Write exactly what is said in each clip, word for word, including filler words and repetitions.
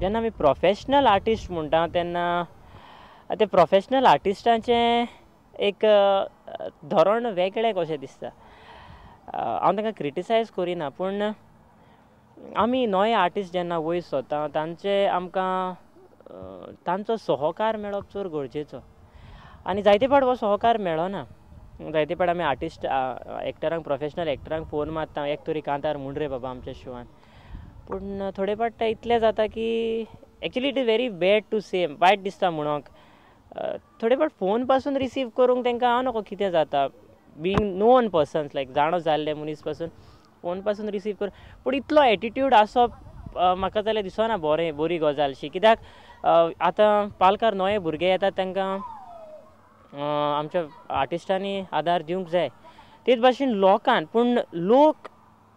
जेन्ना आमी professional artist म्हणटा तेन्ना ते प्रोफेशनल आर्टिस्टांचें एक धोरण वेगळें कशें दिसता. हांव तांकां क्रिटिसायज करिना, पूण आमी नवे आर्टिस्ट जेन्ना वयर सरता तांचे आमकां तांचो सहकार मेळप चड गरजेचो आनी जायते फावट हो सहकार मेळना. जायते फावट आमी आर्टिस्ट एक्टरांक प्रोफेशनल एक्टरांक फोन मारता, एक तरी कांतार म्हूण रे बाबा आमच्या शोवान, पूण थोडे फावट इतलें जाता की actually it is very bad to say, वायट दिसता म्हणूंक. थोडे फावट फोन पासून रिसीव करूंक तांकां हांव नको कितें जाता, बीइंग नोन पर्सन्स लायक जाणो जाल्ले मनीस पासून फोन पासून रिसीव कर, पूण इतलो एटिट्यूड आसप म्हाका जाल्यार दिसना बरें बरी गजालशी. कित्याक आतां पालकार नवे भुरगे येतात तांकां आमच्या आर्टिस्टांनी आदार दिवंक जाय, तेच भाशेन लोकान. पूण लोक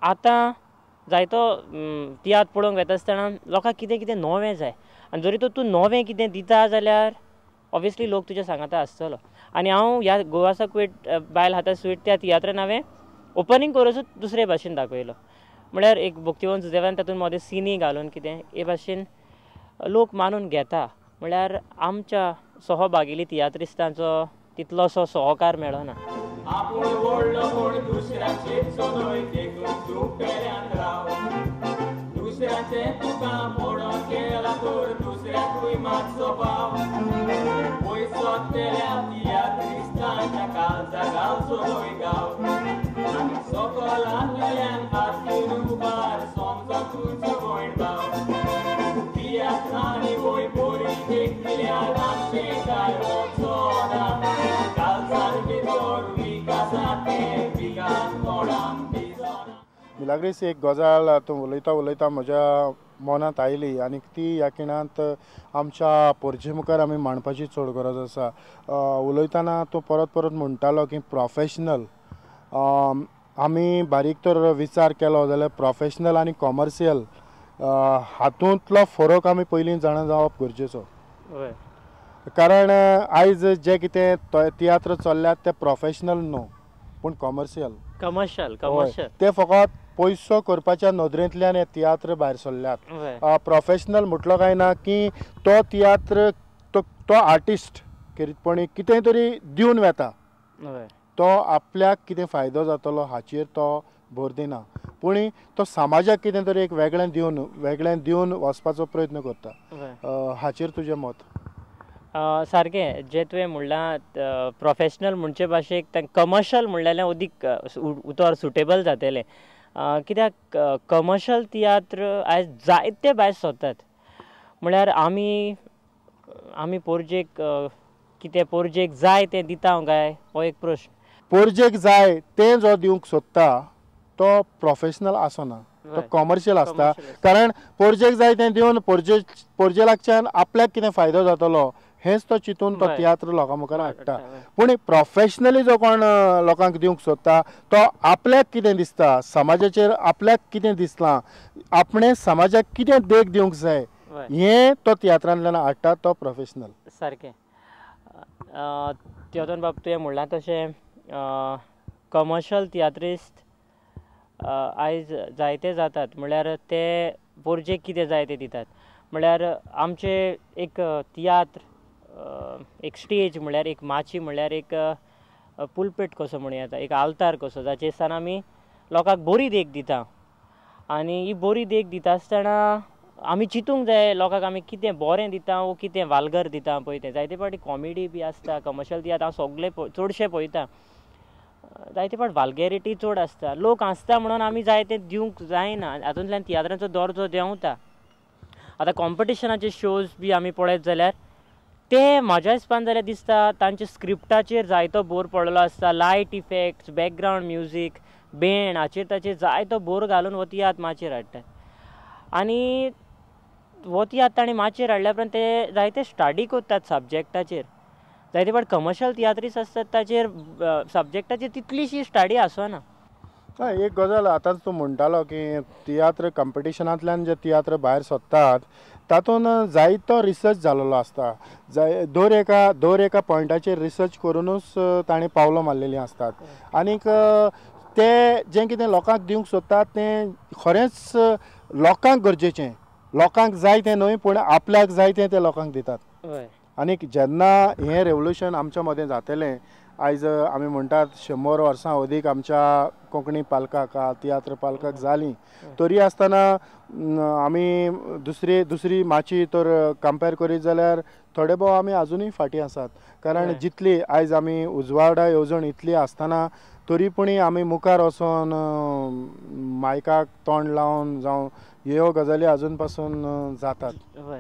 आतां जायतो तियात्र पळोवंक वता आसतना लोकांक कितें कितें नवें जाय आनी जरी तर तूं नवें कितें दिता जाल्यार ऑब्वियसली लोक तुज्या सांगाता आसतलो. आनी हांव ह्या गोवा साक बायल हाता स्वीट त्या तियात्रान हांवें ओपनींग करूच दुसरे भाशेन दाखयलो, म्हळ्यार एक भक्तिवन सुदेवान तातूंत मदें सिनी घालून कितें हे भाशेन लोक मानून घेता. म्हळ्यार आमच्या सहभागिली तियात्रिस्तांचो तितलोसो सहकार मेळना. आपूण व्हडलो कोण दुसऱ्याचें न्हय देखून तूं पेल्यान राव, दुसऱ्याचें तुका मोडोन केलां तर दुसऱ्याकूय मातसो पाव, पयसो तेल्या तियात्रिस्तांच्या काळजा घालचो न्हय गांव, आनी सकल आहलेल्यान हात उबार समजो तुजो भयण भाव, तियात्रांनी वय बरी देख दिल्यार आमचें काय वचना, काळजार भितर विकासा तें विकास कोणाक दिसना. मिलाग्रीस, एक गजाल तूं उलयता उलयता म्हज्या मनांत आयली आनी ती ह्या खिणांत आमच्या पोरजे मुखार आमी मांडपाची चड गरज आसा. उलयतना तूं परत परत म्हणटालो की प्रोफेशनल, आमी बारीक तर विचार केलो जाल्यार प्रोफेशनल आनी कॉमर्शियल हातूंतलो फरक आमी पयलीं जाणा जावप गरजेचो. कारण आयज जे कितें तियात्र चल्ल्यात ते प्रोफेशनल न्हू पूण कॉमर्शियल, कमर्शियल कमर्शियल ते फकत पयसो करपाच्या नदरेंतल्यान हे तियात्र भायर सरल्यात. प्रोफेशनल म्हटलो काय ना की तो तियात्र तो तो आर्टिस्ट खेरीतपणी कितें तरी दिवन वेता, तो आपल्याक कितें फायदो जातलो हाचेर तो भर दिना, पूण तो समाजाक कितें तरी एक वेगळें दिवन वेगळें दिवन वचपाचो प्रयत्न करता. हाचेर तुजें मत? सारकें जें तुवें म्हणलां, प्रोफेशनल म्हणचे भाशेक कमर्शियल म्हणलें अदीक उतर सुटेबल जातलें. कित्याक कमर्शियल तियात्र आयज जायते भायर सरतात, म्हळ्यार आमी आमी पोरजेक कितें पोरजेक जाय तें दिता काय हो एक प्रश्न. पोरजेक जाय तें जो दिवंक सोदता तो प्रोफेशनल आसना, तो कॉमर्शियल आसता. कारण पोरजेक जाय तें दिवन पोरजे पोरजे लागच्यान आपल्याक कितें फायदो जातलो हेंच तो चिंतून तो तियात्र लोकां मुखार हाडटा. पूण प्रोफेशनली जो कोण लोकांक दिवंक सोदता तो आपल्याक कितें दिसता, समाजाचेर आपल्याक कितें दिसलां, आपणें समाजाक कितें देख दिवंक जाय हें तो तियात्रांतल्यान हाडटा, तो प्रोफेशनल. सारकें तियोदोन बाब तुवें म्हणलां तशें कमर्शियल तियात्रिस्त आयज जायते जातात, म्हळ्यार ते पोरजेक कितें जाय तें दितात. म्हळ्यार आमचे एक तियात्र एक स्टेज म्हळ्यार एक माची म्हळ्यार एक पुलपेट कसो म्हणूं येता, एक आल्तार कसो, जाचेर सान आमी लोकांक बरी देख दिता. आनी ही बरी देख दिता आसतना आमी चिंतूंक जाय लोकांक आमी कितें बरें दिता वो कितें वालगर दिता पळय तें. जायते फावटी कॉमेडी बी आसता कमर्शियल तियात्र हांव सगळे चडशे पळयता, जायते फावट वाल्गेरिटी चड आसता, लोक हांसता म्हणून आमी जाय तें दिवंक जायना, हातूंतल्यान तियात्रांचो दर्जो देंवता. आतां कॉम्पिटिशनाचे शोज बी आमी पळयत जाल्यार ते म्हाज्या हिसपान जाल्यार दिसता तांच्या स्क्रिप्टाचेर जायतो भर पडलेलो आसता, light effects, background music, band हाचेर ताचेर जायतो भर घालून हो तियात्र माचयेर हाडटात. आनी हो तियात्र ताणें माचयेर हाडल्या उपरांत ते जायते स्टडी करतात सब्जेक्टाचेर. जायते फावट कमर्शियल तियात्रीस आसतात ताचेर सब्जेक्टाचेर तितलीशी स्टडी आसना. हय, एक गजाल आतांच तूं म्हणटालो की तियात्र कॉम्पिटिशनांतल्यान जे तियात्र भायर सरतात तातूंत जायतो रिसर्च जाल्लो आसता, जाय दर एका दर एका पॉयंटाचेर रिसर्च करुनूच ताणें पावलां मारलेलीं आसतात. आनीक ते जें कितें लोकांक दिवंक सोदतात तें खरेंच लोकांक गरजेचें, लोकांक जाय तें न्हय पूण आपल्याक जाय तें ते लोकांक दितात. आनी जेन्ना हें रेवोल्युशन आमच्या मदें जातलें, आयज आमी म्हणटात शंबर वर्सां अदीक आमच्या कोंकणी पालकाक तियात्र पालकाक जालीं, तरी आसतना आमी दुसरी दुसरी माची तर कंपेर करीत जाल्यार थोडे भोव आमी आजुनूय फाटीं आसात. कारण जितली आयज आमी उजवाडा येवजण इतली आसतना तरी पूण आमी मुखार वचोन मायकाक तोंड लावन जावं ह्यो गजाली आजून पासून जातात,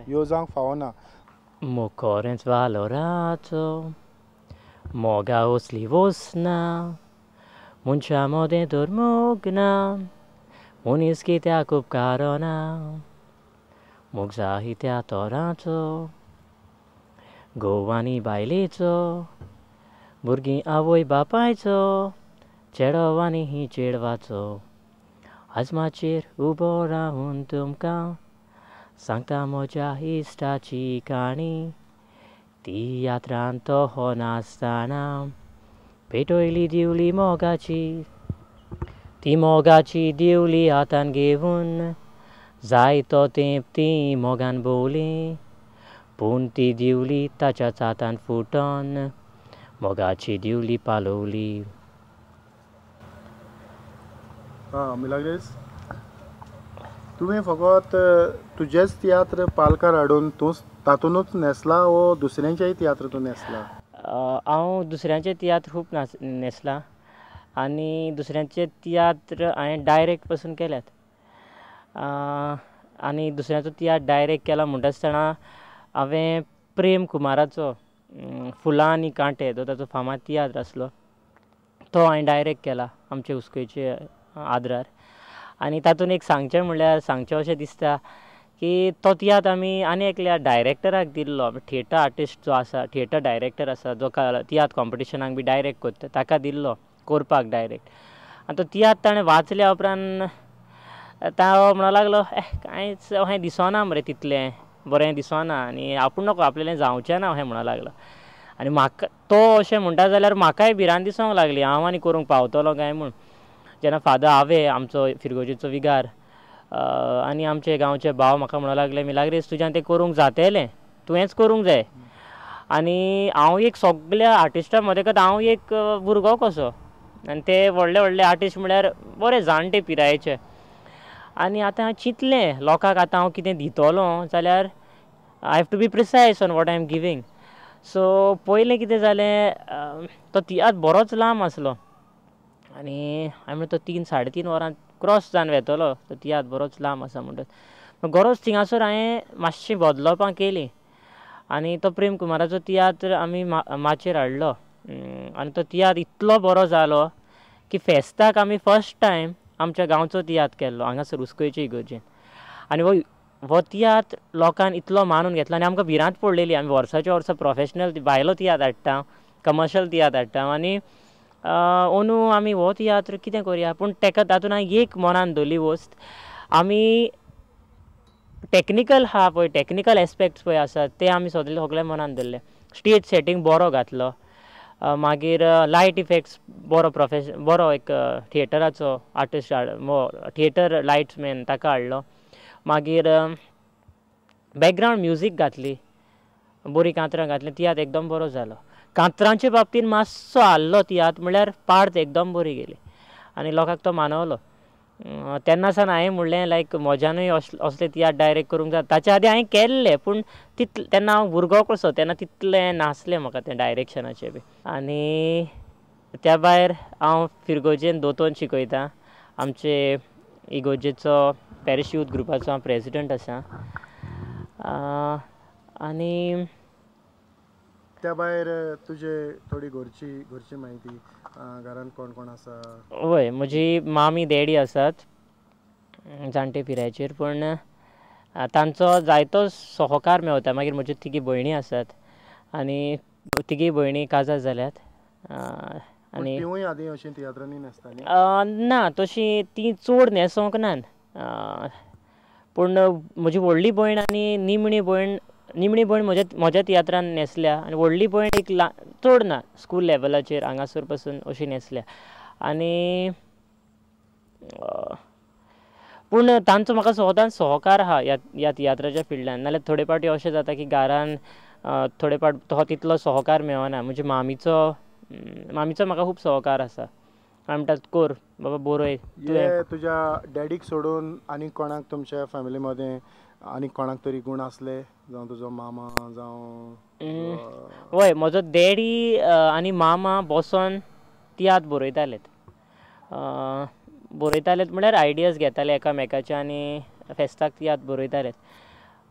ह्यो जावंक फावना. मोखोरेंच वालोराचो मोगा असली वसना, मनशा मोदें तर मोग ना, मनीस कित्याक उपकारना, मोग जायत्या तोराचो, घोव आनी बायलेचो, भुरगीं आवय बापायचो, चेडो आनी ही चेडवाचो. आज माचयेर उबो रावन तुमकां सांगता म्हज्या इश्टाची काणी, तियात्रांत तो हो नासतना पेटयली दिवली मोगाची, ती मोगाची दिवली हातान घेवन जायतो तेंप ती मोगान भोंवली, पूण ती दिवली ताच्याच हातान फुटोन मोगाची दिवली पालवली. आं मिलाग्रेस, तुवें फकत तुजेच तियात्र पालकार हाडून तूं तातूनच न्हेसला वो दुसऱ्यांचेय तियात्र तूं न्हेसला? हांव दुसऱ्यांचे तियात्र खूब नाच न्हेसला आनी दुसऱ्यांचे तियात्र हांवें डायरेक्ट पसून केल्यात. आनी दुसऱ्यांचो तियात्र डायरेक्ट केला म्हणटा आसतना हांवें प्रेम कुमाराचो फुलां आनी कांटे जो ताचो फामाद तियात्र आसलो तो हांवें डायरेक्ट केला आमचे उसकयचे आद्रार. आनी तातूंत एक सांगचें म्हणल्यार सांगचें अशें दिसता की तो तियात्र आमी आनी एकल्या डायरेक्टराक दिल्लो, थिएटर आर्टिस्ट जो आसा, थिएटर डायरेक्टर आसा जो तियात्र कॉम्पिटिशनाक बी डायरेक्ट करता ताका दिल्लो करपाक डायरेक्ट. आनी तो तियात्र ताणें वाचल्या उपरांत तो म्हणूंक लागलो eh कांयच अशें दिसना मरे, तितलें बरें दिसना आनी आपूण नको आपल्यालें जावचें ना अशें म्हणूंक लागलो. आनी म्हाका तो अशें म्हणटा जाल्यार म्हाकाय भिरांत दिसूंक लागली हांव आनी करूंक पावतलो काय म्हूण. जेन्ना फादर आवे आमचो फिरगोजेचो विगार आनी आमचे गांवचे भाव म्हाका म्हणूंक लागले मिलाग्रेस तुज्यान तें करूंक जातलें, तुवेंच करूंक जाय. आनी हांव एक सगल्या आर्टिस्टां मदें हांव एक भुरगो कसो, आनी ते व्हडले व्हडले आर्टिस्ट म्हळ्यार बरे जाणटे पिरायेचे. आनी आतां हांवें चिंतलें लोकांक आतां हांव कितें दितलो जाल्यार I have to be precise on what I am giving. So पयलें कितें जालें, तो तियात्र बरोच लांब आसलो आनी हांवें म्हणलें तो तीन साडे तीन वरां क्रॉस जावन वेतलो, तो तियात्र बरोच लांब आसा म्हणटच गरज थिंगासर हांवें मातशीं बदलपां केलीं आनी तो प्रेम कुमाराचो तियात्र आमी माचयेर हाडलो. आनी तो तियात्र इतलो बरो जालो की फेस्ताक आमी फर्स्ट टायम आमच्या गांवचो तियात्र केल्लो हांगासर उसकयचे इगर्जेन. आनी हो हो तियात्र लोकान इतलो मानून घेतलो आनी आमकां भिरांत पडलेली, आमी वर्साच्या वर्सा प्रोफेशनल भायलो तियात्र हाडटा, कमर्शियल तियात्र हाडटा आनी अंदू आमी हो तियात्र कितें करुया. पूण ताका तातूंत हांवें एक मनान धरली वस्त, आमी टॅक्निकल आहा पळय, टॅक्निकल एस्पेक्ट्स पळय आसात ते आमी सगळे सगळे मनान धरले. स्टेज सेटींग बरो घातलो, मागीर लायट इफेक्ट्स बरो प्रोफेश बरो एक थिएटराचो आर्टिस्ट थिएटर लायट्समॅन ताका हाडलो, मागीर बॅकग्रावंड म्युजीक घातली, बरी कांतरां घातली, तियात्र एकदम बरो जालो. कांतरांचे बाबतींत मातसो हाल्लो तियात्र म्हळ्यार पार्ट एकदम बरी गेली आनी लोकांक तो मानवलो. तेन्ना सावन हांवें म्हणलें लायक म्हज्यानूय असले तियात्र डायरेक्ट करूंक जाता. ताच्या आदीं हांवें केल्ले पूण तितले तेन्ना हांव भुरगो कसो तेन्ना तितलें नासलें म्हाका तें डायरेक्शनाचें बी. आनी त्या भायर हांव फिरगोजेन दोतोन शिकयतां, आमचे इगोर्जेचो पॅरिश यूथ ग्रुपाचो हांव प्रेजिडंट आसा. आनी त्या भायर तुजे थोडी घरची घरची म्हायती, घरांत कोण कोण आसा? हय, म्हजी मामी डॅडी आसात जाणटे पिरायेचेर, पूण तांचो जायतो सहकार मेवता. मागीर म्हज्यो तिगी भयणी आसात आनी तिगी भयणी काजार जाल्यात. आनी तिवूय आदीं अशीं तियात्रांनी न्हेसतालीं? ना, तशीं तीं चड न्हेसोंक नात, पूण म्हजी व्हडली भयण आनी निमणी भयण निमणी भयण म्हज्या म्हज्या तियात्रान न्हेसल्या आनी व्हडली भयण एक ल्हान चड ना स्कूल लेवलाचेर हांगासर पसून अशी न्हेसल्या. आनी पूण तांचो म्हाका सदांच सहकार आहा ह्या ह्या तियात्राच्या फिल्डान. नाल्यार थोडे फावटी अशें जाता की घरान थोडे फावट तो तितलो सहकार मेळना. म्हजे मामीचो मामीचो म्हाका खूब सहकार आसा. म्हणटात कर बाबा बरय. तुवें तुज्या डॅडीक सोडून आनी कोणाक तुमच्या फॅमिली मदें आनी कोणाक तरी गूण आसले, जावं तुजो मामा जावं? वय, म्हजो डॅडी आनी मामा बसोन तियात्र बरयतालेत. बरयतालेत म्हळ्यार आयडियाज घेताले एकामेकाचे आनी फेस्ताक तियात्र बरयतालेत.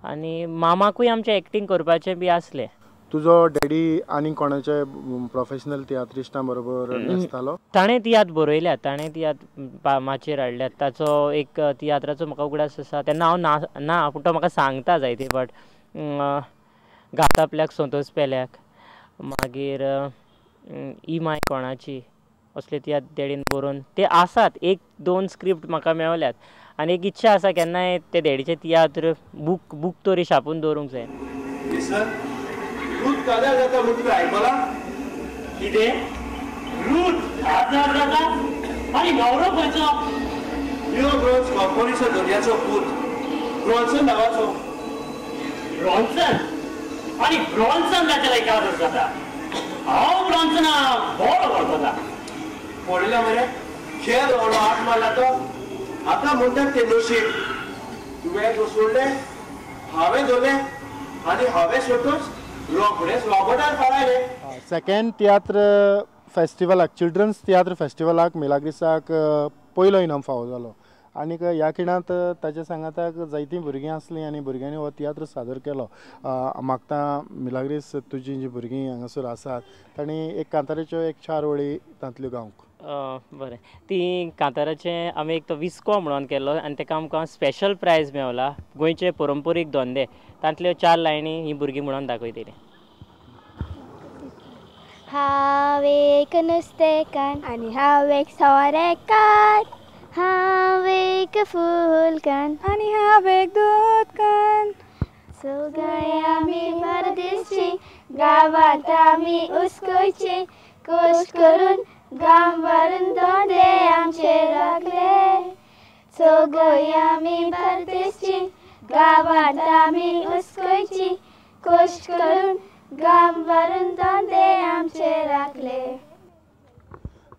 आनी मामाकूय आमचें एक्टींग करपाचें बी आसलें. तुजो डॅडी आनी कोणाचे प्रोफेशनल तियात्रिस्टां बरोबर नासतालो? ताणें तियात्र बरयल्यात, ताणें तियात्र माचयेर हाडल्यात. ताचो एक तियात्राचो म्हाका उगडास आसा, तेन्ना हांव ना ना पूण तो म्हाका सांगता जायते फावट, घात आपल्याक संतोष पेल्याक, मागीर ई my कोणाची, असले तियात्र डॅडीन बरोवन ते आसात. एक दोन स्क्रिप्ट म्हाका मेवल्यात आनी एक इच्छा आसा केन्नाय ते डॅडीचे तियात्र बूक बूक तरी छापून दवरूंक जाय. रूत काजार जाता म्हूण तुवें आयकलां? कितें रूत काजार जाता? आनी न्हवरो खंयचो? न्यू ब्रॉन्स कंपनीचो धनयाचो पूत, ब्रॉन्सन नांवाचो. ब्रॉन्सन? आनी ब्रॉन्सन ताच्या लागीं काजार जाता? हांव ब्रॉन्सना बरो वळखता. पळयला मरे, खेळ व्हडलो हात मारला तो. आतां म्हणटात तें नशीब. तुवें तो सोडलें, हांवें धरलें आनी हांवें सोडटूच रोखडेच रॉबर्टान फारायलें. सेकेंड तियात्र फेस्टिवलाक, चिल्ड्रन्स तियात्र फेस्टिवलाक मिलाग्रिसाक पयलो इनाम फावो जालो आनीक ह्या खिणांत ताच्या सांगाताक जायतीं भुरगीं आसलीं आनी भुरग्यांनी हो तियात्र सादर केलो. मागता मिलाग्रीस, तुजीं जीं भुरगीं हांगासर आसात तांणी एक कांताराच्यो एक चार वळी तांतल्यो गावंक. बरें, ती कांताराचें आमी एक तो विस्को म्हणून केल्लो आनी ताका आमकां स्पेशल प्रायज मेवला, गोंयचे परंपरीक धंदे, तांतल्यो चार लायनी ही भुरगीं म्हणून दाखयतलीं. हांव एक नुस्तेकान्न आनी हांव एक सोरेकार, हांव एक फुलकान्न आनी हांव एक दूदकान्न, सगळे आमी परदेशी गांवांत आमी उसकोयची, कश्ट करून गांव भरून धंदे आमचे राखले. सगळे आमी परदेशी गांवांत आमी उसकोयची, कश्ट करून गांव भरून धंदे आमचे राखले.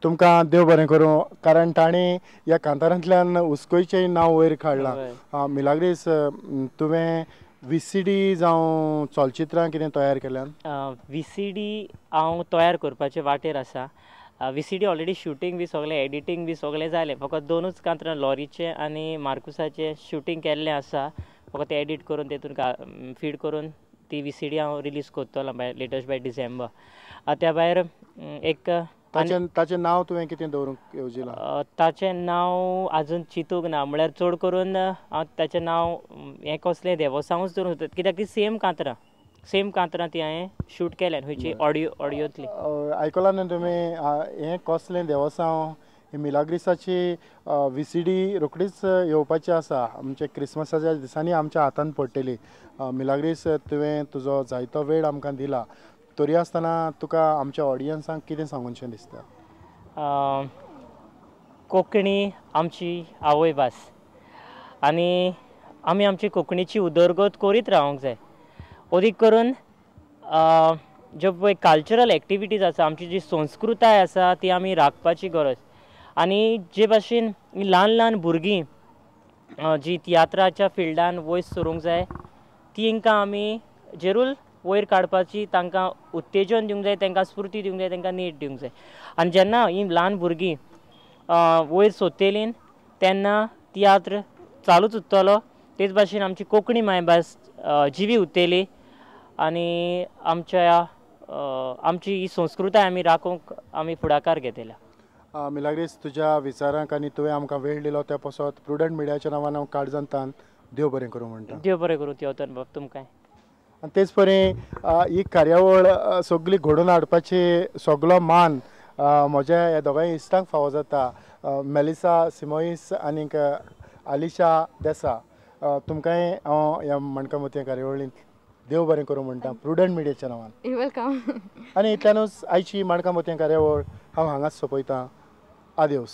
तुमकां देव बरें करूं, कारण तांणी ह्या कांतारांतल्यान उसकोयचें नांव वयर काडलां. मिलाग्रीस, तुवें वी सी डी जावं चलचित्रां कितें तयार केल्यात? वी सी डी हांव तयार करपाचे वाटेर आसा. V C D already shooting बी सगळें, एडिटींग बी सगळें जालें. फकत दोनूच कांतरां, लॉरीचें आनी मार्कुसाचें शुटींग केल्लें आसा. फकत तें एडीट करून तेतून फीड करून ती वी सी डी हांव रिलीज करतलो बाय लेटस्ट बाय डिसेंबर. त्या भायर एक ताचें ताचें नांव तुवें कितें दवरूंक येवजिलां? ताचें नांव आजून चिंतूंक ना. म्हळ्यार चड करून हांव ताचें नांव हें कसलें देवसांवूच दवरूंक सोदता, कित्याक ती सेम कांतरां सेम कांतरां ती हांवें शूट केल्यान खंयची ऑडियो ऑडियोंतली. आयकलां न्हू तुमी, हें कसलें देवसांव ही मिलाग्रिसाची वी सी डी रोखडीच येवपाची आसा. आमच्या क्रिसमसाच्या दिसांनी आमच्या हातान पडटली. मिलाग्रीस, तुवें तुजो जायतो वेळ आमकां दिला, तरी आसतना तुका आमच्या ऑडियन्सांक कितें सांगूनशें दिसता? कोंकणी आमची आवयभास आनी आमी आमची कोंकणीची उदरगत करीत रावंक जाय. अदीक करून ज्यो पळय कल्चरल एक्टिविटीज आसा, आमची जी संस्कृताय आसा ती आमी राखपाची गरज. आनी जे भाशेन ल्हान ल्हान भुरगीं जी तियात्राच्या फिल्डान वयर सरूंक जाय, तांकां आमी जेरूल वयर काडपाची, तांकां उत्तेजन दिवंक जाय, तांकां स्फुर्ती दिवंक जाय, तांकां नेट दिवंक जाय. आनी जेन्ना ही ल्हान भुरगीं वयर सोदतलीं तेन्ना तियात्र चालूच उरतलो. तेच भाशेन आमची कोंकणी मायभास जिवी उरतली आनी आमच्या आमची ही संस्कृताय आमी राखूंक आमी फुडाकार घेतले. मिलाग्रीस, तुज्या विचारांक आनी तुवें आमकां वेळ दिलो त्या पासत प्रुडंट मिडियाच्या नांवान हांव काळजांतान देव बरें करूं म्हणटा. देव बरें करूं तेवतन बाब तुमकां. आनी तेच परी ही कार्यावळ सगळी घडोवन हाडपाची सगलो मान म्हज्या ह्या दोगांय इश्टांक फावो जाता, मेलिसा सिमोईस आनीक आलिशा देसा. तुमकांय हांव ह्या माणकां मोतयां कार्यावळींत देव बरें करूं म्हणटा प्रुडंट मिडियाच्या नांवान. Welcome. आनी इतल्यानूच आयची माणकां मोतयां कार्यावळ हांव हांगाच सोंपयतां. आदेवस.